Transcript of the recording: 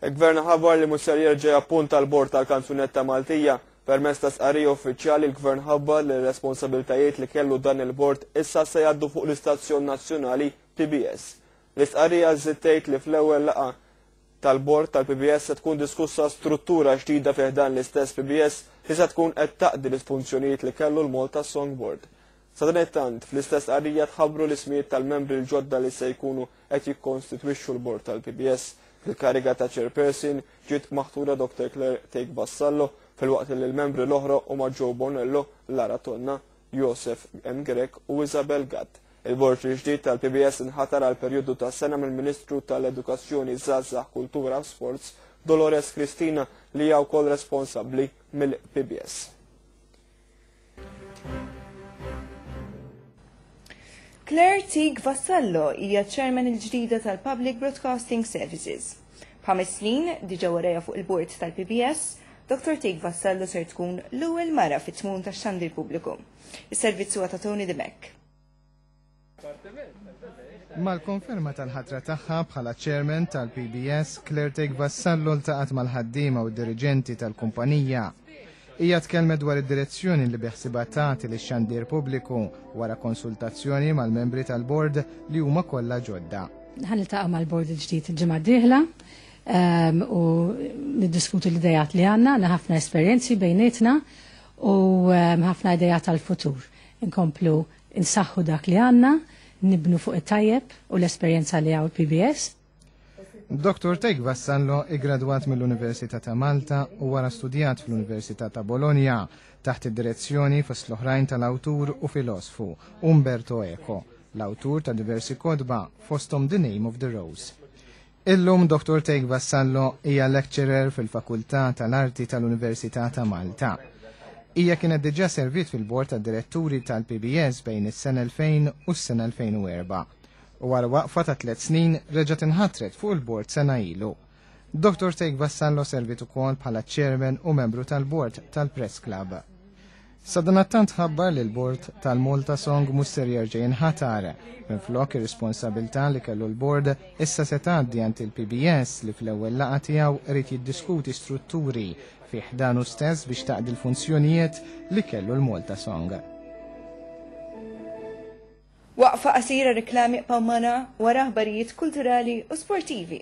Il-Gvern ħabbar li mhux ser jerġa' jappunta l-Bord tal-Kanzunetta Maltija. Permezz ta' stqarrija uffiċjali l-Gvern ħabbar li r-responsabilitajiet li kellu dan il-bord issa se jgħaddu fuq l-istazzjon nazzjonali PBS. L-istqarrija żżid tgħid li fl-ewwel laqgħa tal-Bord tal-PBS se tkun diskussa struttura ġdida fi ħdan l-istess PBS li se tkun qed taqdi l-funzjonijiet li kellu l-Malta Song Board. Sadanittant, fl-istess stqarrija tħabbru l-ismijiet tal-membri l-ġodda li se jkunu qed jikkonstitwixxu l-Bord tal-PBS. Fil-kariga ta' Chairperson ġiet maħtura Dr. Claire Thake Vassallo filwaqt li l-membri l-oħra huma Joe Bonello, Lara Tonna, Josef M. Grech u Isabel Gatt. Il-Bord il-ġdid tal-PBS inħatar għal perjodu ta' sena mill-Ministru tal-Edukazzjoni, Żgħażagħ, Kultura u Sports, Dolores Cristina li hija wkoll responsabbli mill-PBS. Claire Teague Vassallo hija ċ-Chairman il-ġdida tal-Public Broadcasting Services. B'ħames snin diġà warajha fuq il-bord tal-PBS, Dottor Teague Vassallo ser tkun l-ewwel mara fit-tmun tax-xandir pubbliku. Is-servizz huwa ta' Tony Dimech. Mal-konferma tal-ħatra tagħha bħala Chairman tal-PBS, Claire Teague Vassallo ltaqgħet mal-ħaddiema u d-diriġenti tal-kumpanija. Hija tkellmet dwar id-direzzjoni li beħsiebha tagħti lix-xandir pubbliku wara konsultazzjoni mal-membri tal-bord li huma kollha ġodda. Ħa niltaqa' mal-bord il-ġdid il-ġimgħa d-dieħla ehm, u niddiskutu l-idejat li għandna, għandna ħafna esperjenzi bejnietna u ehm, ħafna idejat għall-futur. Inkomplu Insaħħu dak li għandna, nibnu fuq it-tajjeb u l-esperjenza li hawn il-PBS. Dottor Teig Vassallo iggradwat mill-Università ta' Malta u wara studjat fl-Università ta' Bologna taħt id-direzzjoni fost l-oħrajn tal-awtur u filosfu Umberto Eco, l-awtur ta' diversi kotba fosthom The Name of the Rose. Illum Dottor Teig Vassallo hija lecturer fil-Fakultà tal-Arti tal-Università ta' Malta. Hija kienet diġà serviet fil-Bord tad-Diretturi tal-PBS bejn is-sena 2000 u s-sena 2004 u wara waqfa ta' tlett snin reġgħet inħatret fuq il-bord sena ilu. Dottor Teig Vassallo serviet ukoll bħala Chairman u membru tal-Bord tal-Press Club. Sadanattant ħabbar li l-bord tal-Malta Song mhux ser jerġa' jinħatar. Minflok ir-responsabilità li kellu l-bord issa se tgħaddi għand il-PBS li fl-ewwel laqgħa tiegħu irid jiddiskuti strutturi fi ħdanu stess biex taqdi l-funzjonijiet li kellu l-Malta Song. Waqfa qasira reklami ibqgħu magħna wara aħbarijiet kulturali u sportivi.